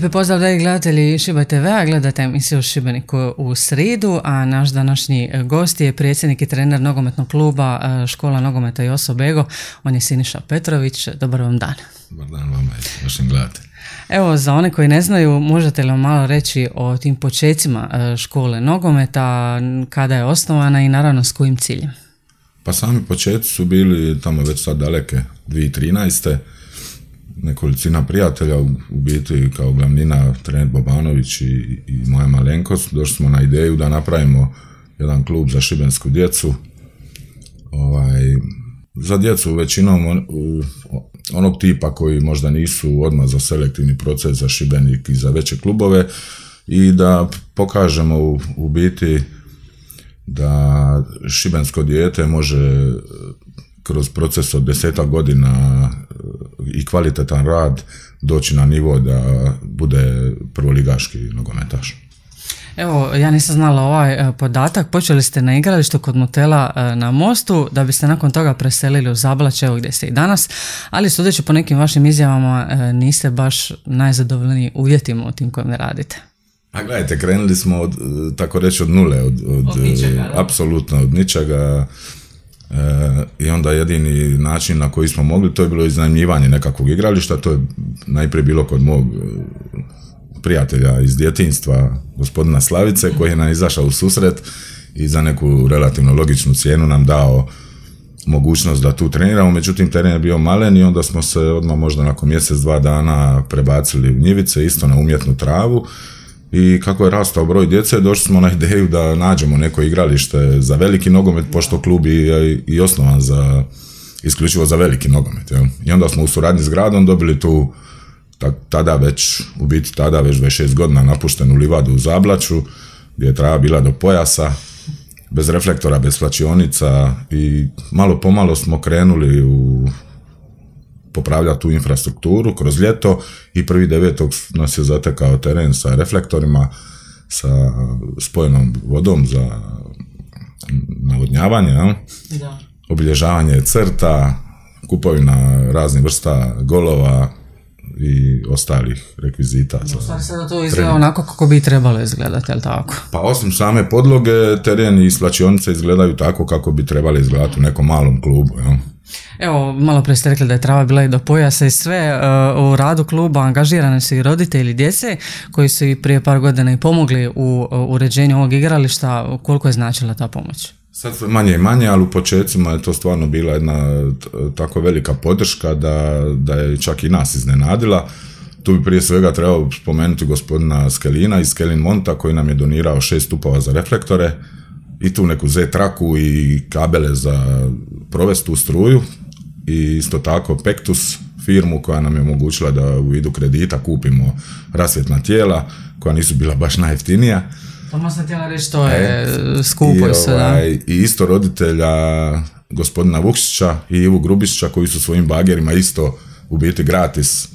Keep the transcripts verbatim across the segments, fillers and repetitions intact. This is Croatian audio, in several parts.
Lijepi pozdrav, dragi gledatelji Šibenj te ve a, gledate emisiju Šibenik u sridu, a naš današnji gost je predsjednik i trener nogometnog kluba Škola nogometa Joso Bego, on je Siniša Petrović. Dobar vam dan. Dobar dan vama i vašim gledateljima. Evo, za one koji ne znaju, možete li vam malo reći o tim počecima škole nogometa, kada je osnovana i naravno s kojim ciljem? Pa sami početci su bili tamo već sad daleke dvije tisuće trinaeste. Nekolicina prijatelja, u biti kao glavnina trener Bobanović i, i moja malenkost, došli smo na ideju da napravimo jedan klub za šibensku djecu. Ovaj, za djecu većinom on, onog tipa koji možda nisu odmah za selektivni proces za Šibenik i za veće klubove, i da pokažemo u, u biti da šibensko dijete može kroz proces od desetak godina i kvalitetan rad doći na nivo da bude prvoligaški nogometaš. Evo, ja nisam znala ovaj podatak, počeli ste na igralištu kod motela na Mostu, da biste nakon toga preselili u Zablaće, evo gdje ste i danas, ali sudeći po nekim vašim izjavama niste baš najzadovoljniji uvjetima u tim kojim radite. A gledajte, krenuli smo od, tako reći, od nule, od, od, od ničega, apsolutno od ničega. E, i onda jedini način na koji smo mogli, to je bilo iznajmljivanje nekakvog igrališta. To je najprije bilo kod mog prijatelja iz djetinjstva, gospodina Slavice, koji je nam izašao u susret i za neku relativno logičnu cijenu nam dao mogućnost da tu treniramo. Međutim, teren je bio malen i onda smo se odmah možda nakon mjesec, dva dana prebacili u njivice, isto na umjetnu travu. I kako je rastao broj djece, došli smo na ideju da nađemo neko igralište za veliki nogomet, pošto klub je i osnovan za, isključivo za veliki nogomet. Jel? I onda smo u suradnji s gradom dobili tu, tada već, u biti tada već dvadeset šest godina napuštenu livadu u Zablaću, gdje je trava bila do pojasa, bez reflektora, bez slačionica, i malo pomalo smo krenuli u popravljati tu infrastrukturu kroz ljeto, i prvi devetog nas je zatekao teren sa reflektorima, sa spojenom vodom za navodnjavanje, ja? Da. Obilježavanje crta, kupovina raznih vrsta golova i ostalih rekvizita. U stvari sada to izgleda onako kako bi trebalo izgledati, jel tako? Pa osim same podloge, teren i slačionice izgledaju tako kako bi trebali izgledati u nekom malom klubu. Ja? Evo, malo prije ste rekli da je trava bila i do pojasa i sve. U radu kluba angažirani su i roditelji djece koji su i prije par godina i pomogli u uređenju ovog igrališta. Koliko je značila ta pomoć? Sad sve manje i manje, ali u početcima je to stvarno bila jedna tako velika podrška da, da je čak i nas iznenadila. Tu bi prije svega trebao spomenuti gospodina Skelina iz Skelin Monta, koji nam je donirao šest stupova za reflektore i tu neku Z-traku i kabele za provestu struju, i isto tako Pektus firmu koja nam je omogućila da u vidu kredita kupimo rasvjetna tijela koja nisu bila baš najjeftinija. Tamo sam htjela reći, to je e, skupo i sve, ovaj, i isto roditelja gospodina Vukšića i Ivu Grubišića, koji su svojim bagerima isto u biti gratis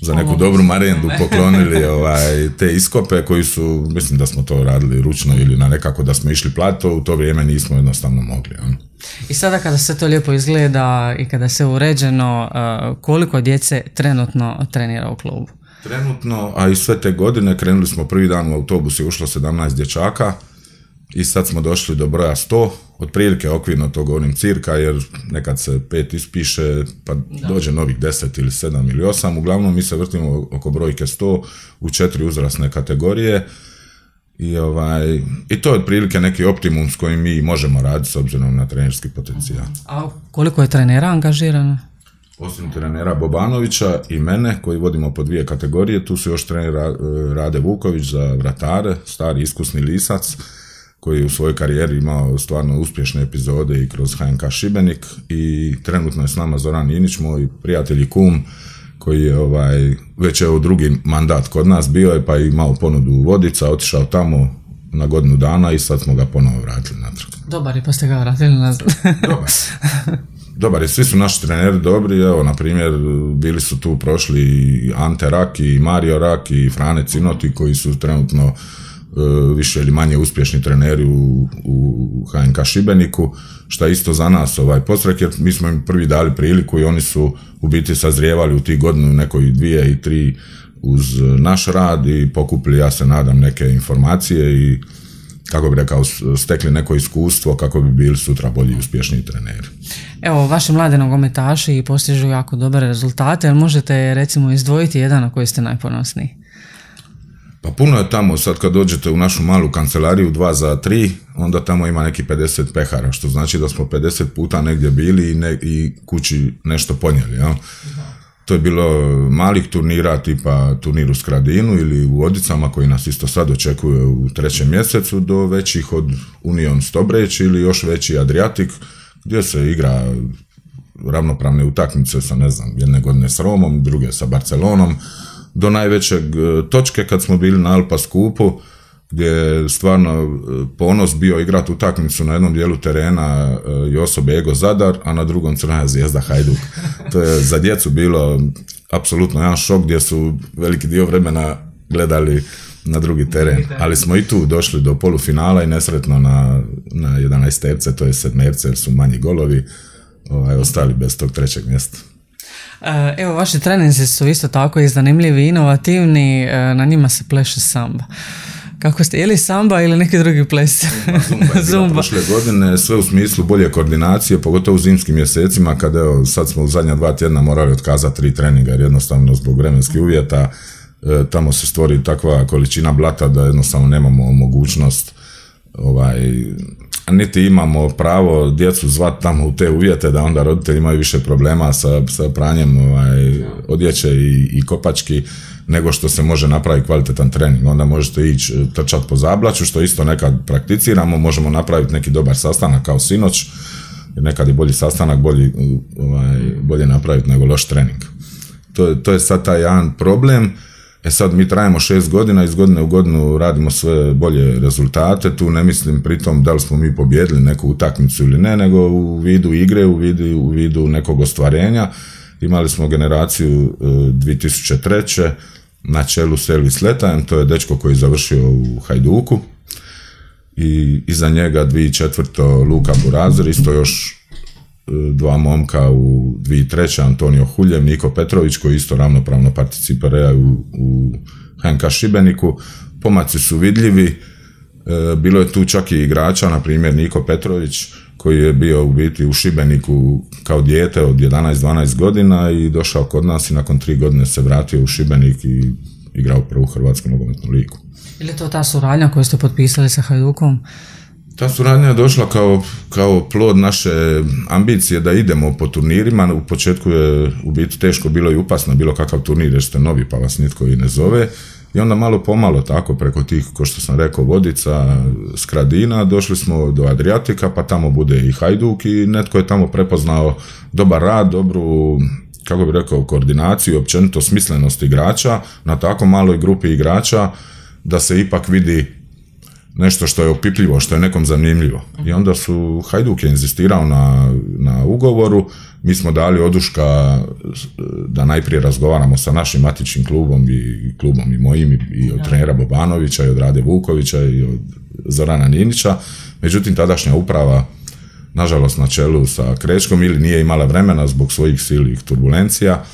za neku dobru marendu poklonili ovaj, te iskope koji su, mislim da smo to radili ručno ili na nekako da smo išli plato, u to vrijeme nismo jednostavno mogli. On. I sada kada se to lijepo izgleda i kada se uređeno, koliko djece trenutno trenira u klubu? Trenutno, a i sve te godine, krenuli smo prvi dan u autobus i ušlo sedamnaest dječaka i sad smo došli do broja sto, otprilike okvirno to govorim cirka, jer nekad se pet ispiše pa da. Dođe novih deset ili sedam ili osam, uglavnom mi se vrtimo oko brojke sto u četiri uzrasne kategorije. I, ovaj, i to je otprilike neki optimum s kojim mi možemo raditi s obzirom na trenerski potencijal. A koliko je trenera angažirano? Osim trenera Bobanovića i mene, koji vodimo po dvije kategorije, tu su još trener Rade Vuković za vratare, stari iskusni lisac, koji je u svojoj karijeri imao stvarno uspješne epizode i kroz H N K Šibenik, i trenutno je s nama Zoran Inić, moj prijatelj i kum, koji je ovaj, već evo drugi mandat kod nas bio je, pa je imao ponudu u Vodica, otišao tamo na godinu dana i sad smo ga ponovo vratili natrag. Dobar je, pa ste ga vratili nazad. Dobar. Dobar je, svi su naši treneri dobri, evo, na primjer, bili su tu prošli i Ante Rak i Mario Rak i Frane Cinoti, koji su trenutno uh, više ili manje uspješni treneri u, u H N K Šibeniku, što je isto za nas ovaj podstrek, jer mi smo im prvi dali priliku i oni su u biti sazrijevali u tih godinu nekoj dvije i tri uz naš rad i pokupili, ja se nadam, neke informacije i, kako bi rekao, stekli neko iskustvo kako bi bili sutra bolji i uspješniji treneri. Evo, vaši mladi nogometaši postižu jako dobre rezultate, ali možete recimo izdvojiti jedan na koji ste najponosniji? Pa puno je tamo, sad kad dođete u našu malu kancelariju dva za tri, onda tamo ima neki pedeset pehara, što znači da smo pedeset puta negdje bili i, ne, i kući nešto ponijeli. Ja? To je bilo malih turnira tipa turnir u Skradinu ili u Vodicama koji nas isto sad očekuje u trećem mjesecu, do većih od Union Stobreć ili još veći Adriatic gdje se igra ravnopravne utakmice sa, ne znam, jedne godine s Romom, druge sa Barcelonom, do najvećeg točke kad smo bili na Alpa skupu gdje je stvarno ponos bio igrati utakmicu na jednom dijelu terena Joso Bego Zadar, a na drugom Crvena Zvijezda Hajduk. To je za djecu bilo apsolutno jedan šok gdje su veliki dio vremena gledali na drugi teren, ali smo i tu došli do polufinala i nesretno na, na jedanaesterce, to je sedmerce jer su manji golovi, ovaj, ostali bez tog trećeg mjesta. Evo, vaši treninzi su isto tako i zanimljivi, inovativni, na njima se pleše samba. Kako ste, je li samba ili neki drugi ples? Zumba je bila prošle godine, sve u smislu bolje koordinacije, pogotovo u zimskim mjesecima, kada evo, sad smo u zadnja dva tjedna morali otkazati tri treninga, jer jednostavno zbog vremenskih uvjeta e, tamo se stvori takva količina blata da jednostavno nemamo mogućnost, ovaj, niti imamo pravo djecu zvati tamo u te uvjete da onda roditelji imaju više problema sa, sa pranjem ovaj, odjeće i, i kopački, nego što se može napraviti kvalitetan trening. Onda možete ići trčati po Zablaću, što isto nekad prakticiramo, možemo napraviti neki dobar sastanak kao sinoć, jer nekad je bolji sastanak, bolji, ovaj, bolje napraviti nego loš trening. To, to je sad taj jedan problem. E sad mi trajemo šest godina, iz godine u godinu radimo sve bolje rezultate, tu ne mislim pritom da li smo mi pobjedili neku utakmicu ili ne, nego u vidu igre, u vidu, u vidu nekog ostvarenja. Imali smo generaciju dvije tisuće treće na čelu s Elvis Letajem, to je dečko koji je završio u Hajduku, i iza njega dvije tisuće četvrte Luka Burazer, isto još dva momka u dvije tisuće treće Antonio Huljev, Niko Petrović koji isto ravnopravno participiraju u, u H N K Šibeniku. Pomaci su vidljivi, e, bilo je tu čak i igrača, na primjer Niko Petrović koji je bio u biti u Šibeniku kao dijete od jedanaest dvanaest godina i došao kod nas i nakon tri godine se vratio u Šibenik i igrao prvu Hrvatsku nogometnu ligu. Ili je to ta suradnja koju ste potpisali sa Hajdukom? Ta suradnja je došla kao, kao plod naše ambicije da idemo po turnirima. U početku je u biti teško bilo i upasno bilo kakav turnir jer ste novi pa vas nitko i ne zove. I onda malo pomalo tako preko tih, ko što sam rekao, Vodica, Skradina, došli smo do Adriatika, pa tamo bude i Hajduk i netko je tamo prepoznao dobar rad, dobru, kako bi rekao, koordinaciju, općenito smislenost igrača na tako maloj grupi igrača da se ipak vidi nešto što je opipljivo, što je nekom zanimljivo. I onda su, Hajduk je inzistirao na, na ugovoru, mi smo dali oduška da najprije razgovaramo sa našim matičnim klubom i klubom i mojim i, i od trenera Bobanovića i od Rade Vukovića i od Zorana Ninića, međutim tadašnja uprava, nažalost na čelu sa Krečkom, ili nije imala vremena zbog svojih silnih turbulencija,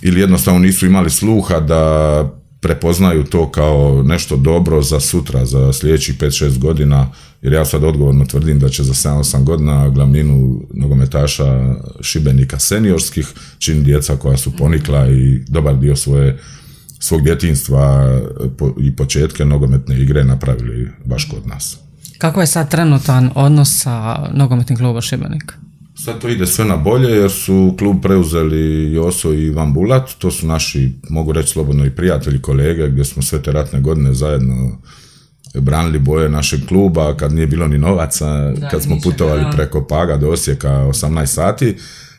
ili jednostavno nisu imali sluha da prepoznaju to kao nešto dobro za sutra, za sljedećih pet šest godina, jer ja sad odgovorno tvrdim da će za sedam osam godina glavninu nogometaša Šibenika seniorskih čini djeca koja su ponikla i dobar dio svoje, svog djetinjstva i početke nogometne igre napravili baš kod nas. Kako je sad trenutan odnos sa nogometnim klubom Šibenik? Sad to ide sve na bolje jer su klub preuzeli Joso i Ivan Bulat, to su naši, mogu reći slobodno, i prijatelji, kolege, gdje smo sve te ratne godine zajedno branili boje našeg kluba kad nije bilo ni novaca, da, kad smo putovali da. preko Paga do Osijeka osamnaest sati,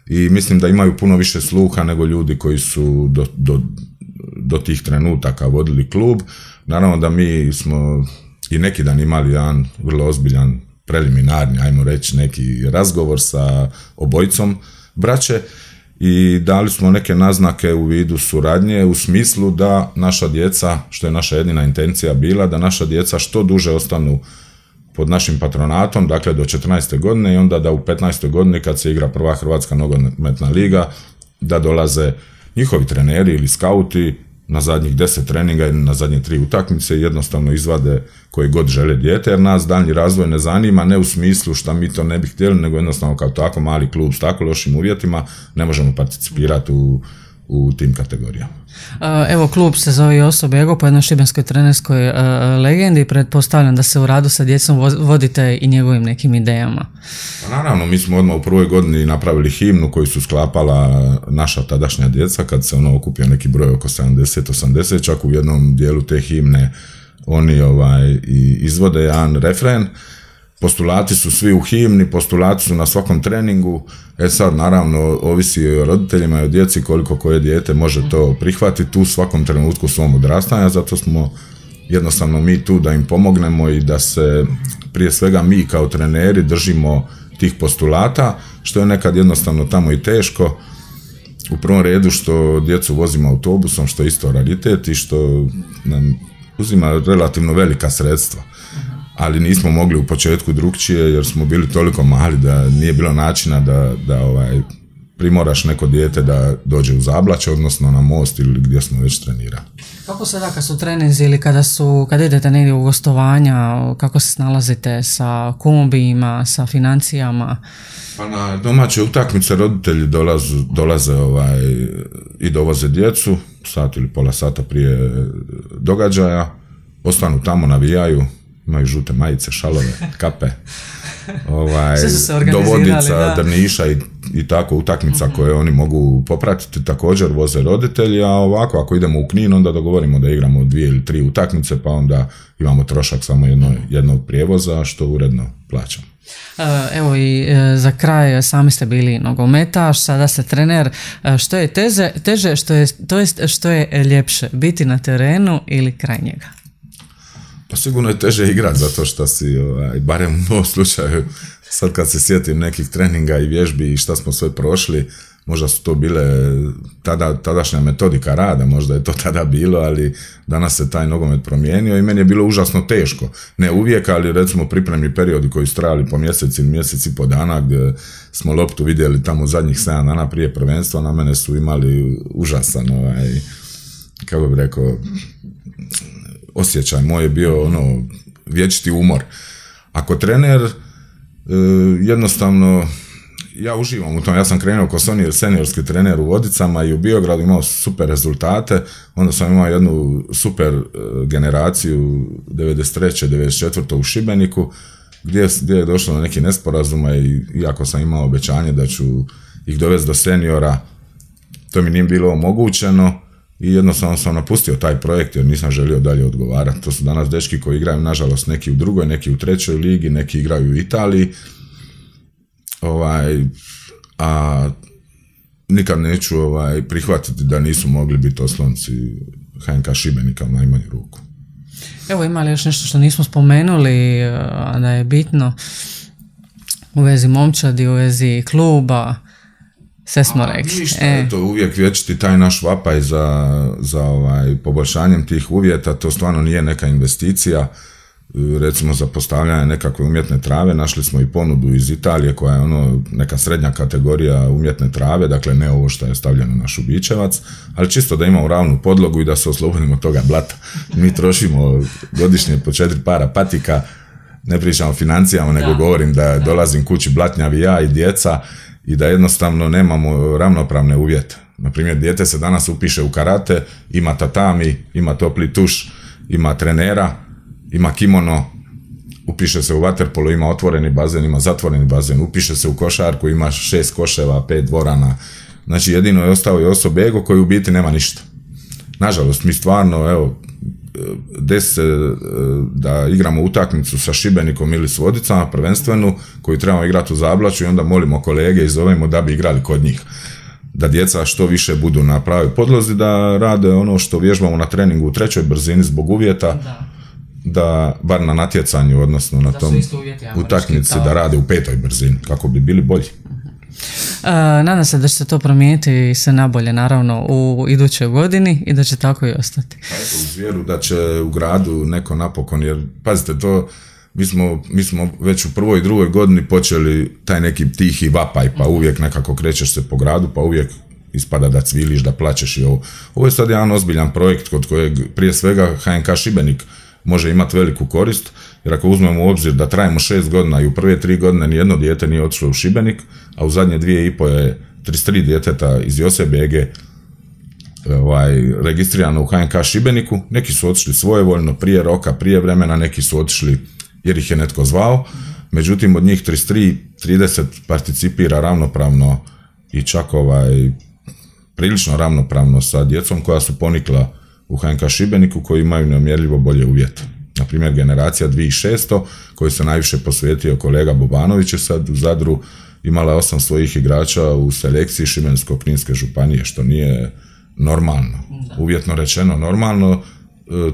i mislim da imaju puno više sluha nego ljudi koji su do, do, do tih trenutaka vodili klub. Naravno da mi smo i neki dan imali jedan vrlo ozbiljan preliminarni, ajmo reći, neki razgovor sa obojicom braće i dali smo neke naznake u vidu suradnje u smislu da naša djeca, što je naša jedina intencija bila, da naša djeca što duže ostanu pod našim patronatom, dakle do četrnaeste godine, i onda da u petnaestoj godini kad se igra prva Hrvatska nogometna liga, da dolaze njihovi treneri ili skauti na zadnjih deset treninga ili na zadnje tri utakmice i jednostavno izvade koje god žele dijete, jer nas daljnji razvoj ne zanima, ne u smislu šta mi to ne bi htjeli, nego jednostavno kao tako mali klub s tako lošim uvjetima ne možemo participirati u, u tim kategorijama. Evo, klub se zove Joso Bego po jednoj šibenskoj trenerskoj uh, legendi. Pretpostavljam da se u radu sa djecom vodite i njegovim nekim idejama. Pa naravno, mi smo odmah u prvoj godini napravili himnu koju su sklapala naša tadašnja djeca, kad se ono okupio neki broj oko sedamdeset osamdeset, čak u jednom dijelu te himne oni ovaj, i izvode jedan refren. Postulati su svi u himni, postulati su na svakom treningu. E sad, naravno, ovisi o roditeljima i o djeci koliko koje dijete može to prihvatiti u svakom trenutku svom odrastanja, zato smo jednostavno mi tu da im pomognemo i da se prije svega mi kao treneri držimo tih postulata, što je nekad jednostavno tamo i teško. U prvom redu što djecu vozimo autobusom, što je isto raritet i što nam uzima relativno velika sredstva. Ali nismo mogli u početku drugčije jer smo bili toliko mali da nije bilo načina da, da ovaj, primoraš neko dijete da dođe u Zablaće, odnosno na most ili gdje smo već trenirali. Kako sada kad su treninzi ili kada, su, kada idete negdje u gostovanja, kako se snalazite sa kombijima, sa financijama? Pa na domaće utakmice roditelji dolaze, dolaze ovaj, i dovoze djecu, sat ili pola sata prije događaja, ostanu tamo, navijaju, imaju žute majice, šalove, kape, ovaj, do Vodica, da. Drniša i, i tako utakmica uh-huh. koje oni mogu popratiti, također voze roditelji, a ovako ako idemo u Knin onda dogovorimo da igramo dvije ili tri utakmice, pa onda imamo trošak samo jedno, jednog prijevoza što uredno plaćamo. Evo i za kraj, sami ste bili nogometaš, sada ste trener. Što je teže, teže što je, to jest što je ljepše, biti na terenu ili kraj njega? Pa sigurno je teže igrati zato što si, ovaj, barem u mom slučaju, sad kad se sjetim nekih treninga i vježbi i šta smo sve prošli, možda su to bile tada, tadašnja metodika rada, možda je to tada bilo, ali danas se taj nogomet promijenio i meni je bilo užasno teško. Ne uvijek, ali recimo pripremni periodi koji su trajali po mjesec ili mjesec i po dana, gdje smo loptu vidjeli tamo zadnjih sedam dana prije prvenstva, na mene su imali užasan, ovaj, kako bih rekao, osjećaj. Moj je bio ono vječiti umor. Ako trener, e, jednostavno ja uživam u tom. Ja sam krenuo kao seniorski trener u Vodicama i u Biogradu, imao super rezultate, onda sam imao jednu super e, generaciju devedeset treće devedeset četvrte u Šibeniku, gdje, gdje je došlo do nekih nesporazuma i iako sam imao obećanje da ću ih dovesti do seniora, to mi nije bilo omogućeno. I jednostavno sam napustio taj projekt jer nisam želio dalje odgovarati. To su danas dečki koji igraju, nažalost, neki u drugoj, neki u trećoj ligi, neki igraju u Italiji. Ovaj, a nikad neću ovaj, prihvatiti da nisu mogli biti oslonci H N K Šibenika u najmanju ruku. Evo, ima li još nešto što nismo spomenuli, a da je bitno u vezi momčadi, u vezi kluba? Sve smo rekli. Ništa, e. to uvijek vječiti taj naš vapaj za, za ovaj, poboljšanjem tih uvjeta, to stvarno nije neka investicija, recimo za postavljanje nekakve umjetne trave, našli smo i ponudu iz Italije koja je ono neka srednja kategorija umjetne trave, dakle ne ovo što je stavljeno na Šubićevac, ali čisto da imamo ravnu podlogu i da se oslobodimo toga blata. Mi trošimo godišnje po četiri para patika, ne pričamo o financijama, nego da. govorim da dolazim kući blatnjavi ja i djeca, i da jednostavno nemamo ravnopravne uvjete. Naprimjer, dijete se danas upiše u karate, ima tatami, ima topli tuš, ima trenera, ima kimono, upiše se u vaterpolo, ima otvoreni bazen, ima zatvoreni bazen, upiše se u košarku, ima šest koševa, pet dvorana. Znači, jedino je ostao i Joso Bego koji u biti nema ništa. Nažalost, mi stvarno, evo, desi se da igramo utakmicu sa Šibenikom ili s Vodicama, prvenstvenu, koju trebamo igrati u Zablaću i onda molimo kolege i zovemo da bi igrali kod njih. Da djeca što više budu na pravoj podlozi, da rade ono što vježbamo na treningu u trećoj brzini zbog uvjeta, da, da bar na natjecanju, odnosno na da tom uvjeti, utakmici, da rade u petoj brzini, kako bi bili bolji. Uh, nadam se da će se to promijeniti se nabolje, naravno, u idućoj godini i da će tako i ostati. Pa eto, uz vjeru da će u gradu neko napokon, jer pazite to, mi smo, mi smo već u prvoj i drugoj godini počeli taj neki tihi vapaj, pa uvijek nekako krećeš se po gradu, pa uvijek ispada da cviliš, da plačeš i ovo. Ovo je sad jedan ozbiljan projekt kod kojeg prije svega H N K Šibenik može imati veliku korist, jer ako uzmemo u obzir da trajemo šest godina i u prve tri godine nijedno dijete nije otišlo u Šibenik, a u zadnje dvije i po je trideset tri djeteta iz Josip B G ovaj, registrirano u H N K Šibeniku, neki su otišli svojevoljno, prije roka, prije vremena, neki su otišli jer ih je netko zvao, međutim od njih trideset tri, trideset participira ravnopravno i čak ovaj, prilično ravnopravno sa djecom koja su ponikla u H N K Šibeniku, koji imaju nemjerljivo bolje uvjete. Na primjer, generacija dvije tisuće šesto, koju se najviše posvetio kolega Bobanović, je sad u Zadru imala osam svojih igrača u selekciji Šibensko-kninske županije, što nije normalno. Uvjetno rečeno normalno,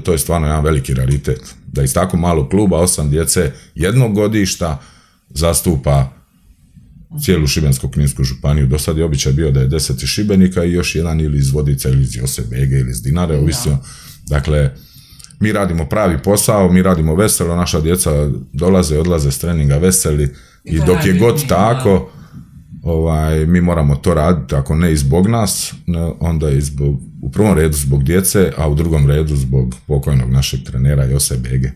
to je stvarno jedan veliki raritet. Da iz tako malog kluba osam djece jednog godišta zastupa cijelu Šibensko-kninsku županiju. Do sad je običaj bio da je deset iz Šibenika i još jedan ili iz Vodica ili iz Josip B G ili iz Dinare, ovisno. Dakle, mi radimo pravi posao, mi radimo veselo, naša djeca dolaze i odlaze s treninga veseli i dok je god tako, ovaj, mi moramo to raditi, ako ne i zbog nas, onda i zbog, u prvom redu zbog djece, a u drugom redu zbog pokojnog našeg trenera Josip B G.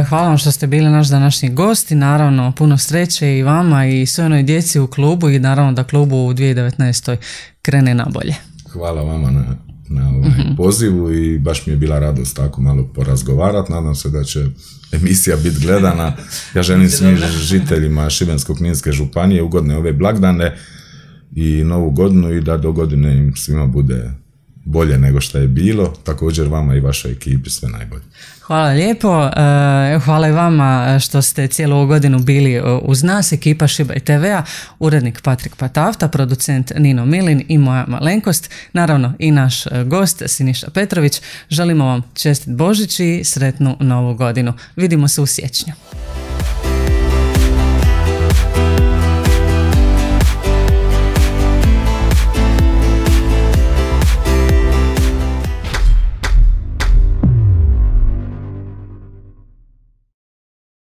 Hvala vam što ste bili naš današnji gost i naravno puno sreće i vama i svoj onoj djeci u klubu i naravno da klubu u dvije tisuće devetnaestoj krene na bolje. Hvala vama na, na ovaj mm-hmm. pozivu i baš mi je bila radost tako malo porazgovarati. Nadam se da će emisija biti gledana. Ja želim svim žiteljima Šibensko-kninske županije ugodne ove blagdane i novu godinu i da do godine im svima bude bolje nego što je bilo. Također vama i vašoj ekipi sve najbolje. Hvala lijepo. Hvala i vama što ste cijelu ovu godinu bili uz nas, ekipa Šibaj te ve a, urednik Patrik Patafta, producent Nino Milin i moja malenkost, naravno i naš gost Siniša Petrović. Želimo vam čestit Božić i sretnu novu godinu. Vidimo se u siječnju.